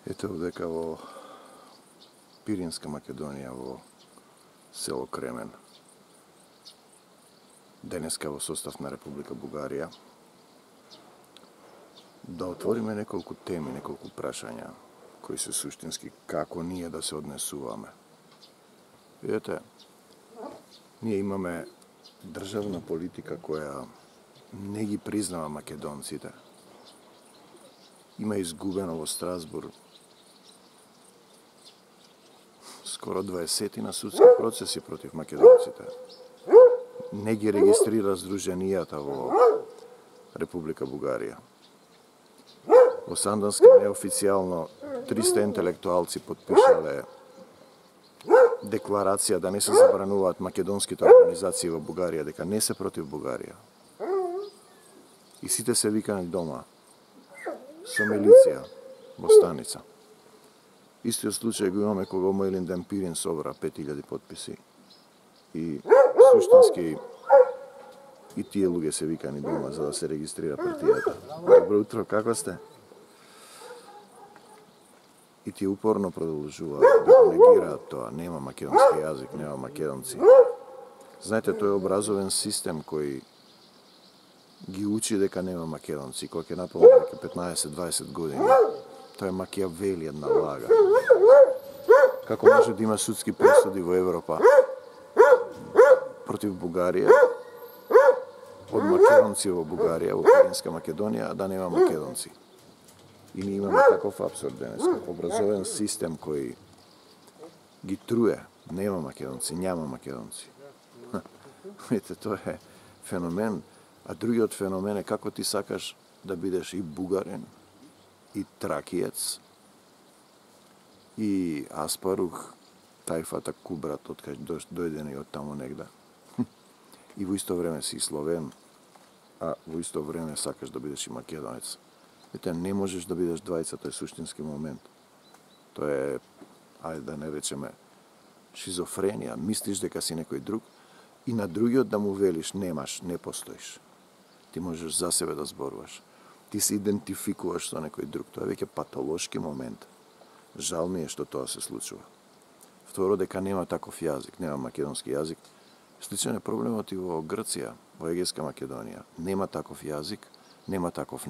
Ете овдека во Пиринска Македонија, во село Кремен. Денеска во состав на Република Бугарија. Да отвориме неколку теми, неколку прашања, кои се суштински како ние да се однесуваме. Видете, ние имаме државна политика која не ги признава македонците. Има изгубено во Страсбург скоро 20 на судски процеси против македонците. Не ги регистрира здруженијата во Република Бугарија. Во Сандански неофицијално 300 интелектуалци подпишале декларација да не се забрануваат македонските организации во Бугарија, дека не се против Бугарија. И сите се викани дома со милиција во станица. Истиот случај го имаме кога во Илинден Пирин собра 5000 подписи. И суштински и тие луѓе се викани дома за да се регистрира партијата. Добро утро, како сте? И тие упорно продолжуваат да негираат тоа. Нема македонски јазик, нема македонци. Знаете, тој е образовен систем кој ги учи дека нема македонци. Кога ќе наполни дека 15-20 години, тоа е Макијавели, една лага. Како може да има судски пресуди во Европа против Бугарија, од македонци во Бугарија, во Пиринска Македонија, да нема македонци. И ние имаме таков абсурд денеска. Образовен систем кој ги труе. Нема македонци, няма македонци. Ете, тоа е феномен. А другиот феномен е како ти сакаш да бидеш и бугарин, и тракиец, и аспарух, тајфата кубрат, откај дојден и од таму негде. И во исто време си словен, а во исто време сакаш да бидеш и македонец. Ете, не можеш да бидеш двајца, тоа е суштински момент. Тоа е, ајде да не речеме, шизофренија. Мислиш дека си некој друг и на другиот да му велиш немаш, не постоиш. Ти можеш за себе да зборуваш. Ти се идентификуваш со некој друг. Тоа е веќе патолошки момент. Жал ми е што тоа се случува. Второ, дека нема таков јазик, нема македонски јазик. Сличен е проблемот и во Грција, во Егејска Македонија. Нема таков јазик, нема таков